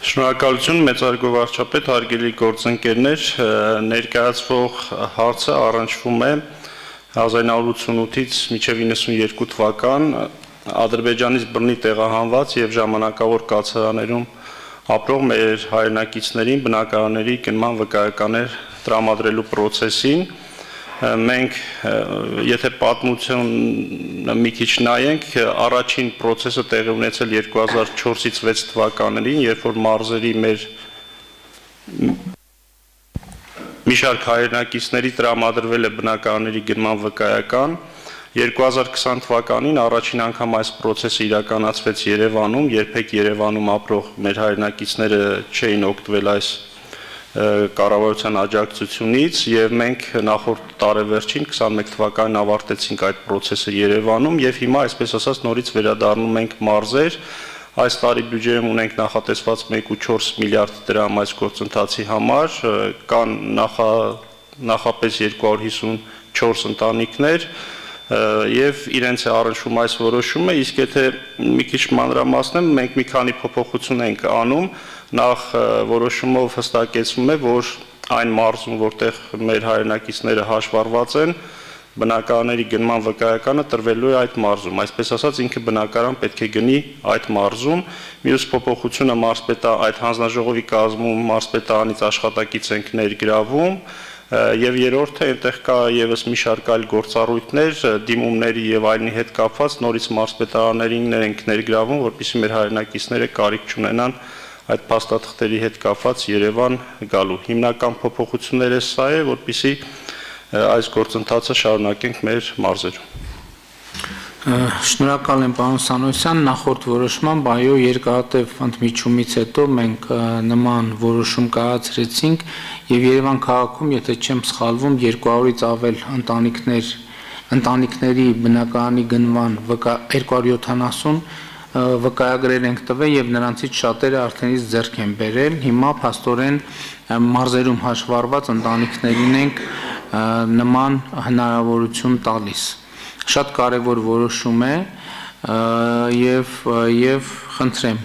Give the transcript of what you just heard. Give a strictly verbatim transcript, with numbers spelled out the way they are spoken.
Շնորհակալություն մեծարգո վարչապետ, հարգելի գործընկերներ, ներկայացվող հարցը առնչվում է հազար նույն հարյուր ութսունութից մինչև իննսունյոթ թվական Ադրբեջանից բռնի տեղահանված եւ ժամանակավոր կացարաններում ապրող մեր հայրենակիցներին բնակարանների գնման վկայականներ տրամադրելու process-ին մենք եթե պատմությունը մի քիչ նայենք առաջին process-ը տեղի ունեցել երկու հազար չորսից վեց թվականներին, երբ որ մարզերի մեր մի շարք հայրենակիցների տրամադրվել է բնակարանների գնման վկայական, երկու հազար քսան թվականին առաջին անգամ այս process-ը իրականացվեց Երևանում, երբեք Երևանում ապրող մեր հայրենակիցները չէին օգտվել այս կառավարության աջակցությունից եւ մենք նախորդ տարեվերջին քսանմեկ թվականին ավարտեցինք այդ process-ը Երևանում եւ հիմա այսպես ասած նորից վերադառնում ենք մարզեր այս տարի բյուջեում ունենք նախատեսված մեկ կողմը չորս միլիարդ դրամ այս գործընթացի համար կան նախա նախապես երկու հարյուր հիսունչորս ընտանիքներ եւ իրենց է առնչվում այս որոշումը, իսկ եթե մի քիչ մանրամասնեմ, մենք մի քանի փոփոխություն ենք անում, նախ որոշումով հստակեցվում է, որ այն մարզում, որտեղ մեր հայրենակիցները հաշվառված են, բնակարանների գնման վկայականը տրվելու է այդ մարզում, այսպես ասած ինքը բնակարան պետք է գնի այդ մարզում, մյուս փոփոխությունը մարզպետա այդ հանձնաժողովի կազմում մարզպետարանից աշխատակից ենք ներգրավում Եվ երրորդը այնտեղ կա եւս մի շարք այլ գործառույթներ, դիմումների եւ այլնի հետ կապված նորից մարզպետարաններին ենք ներգրավում, որպեսզի մեր հայրենակիցները կարիք չունենան այդ փաստաթղթերի հետ կապված Երևան գալու։ Հիմնական փոփոխությունները սա է, որպեսզի այս գործընթացը շարունակենք մեր մարզերում։ Շնորհակալ եմ պարոն Սանոսյան, նախորդ որոշմամբ այո երկարատև ընդմիջումից հետո մենք նման որոշում կայացրեցինք եւ Երևան քաղաքում, եթե չեմ սխալվում, երկու հարյուրից ավել ընտանիքներ ընտանիքների բնակարանի գնման երկու հարյուր յոթանասուն վկայագրեր ենք տվել եւ նրանցից շատերը արդենից ձեռք են բերել։ Հիմա փաստորեն մարզերում հաշվառված ընտանիքներին ենք նման հնարավորություն տալիս։ Շատ կարևոր որոշում է եւ եւ խնդրեմ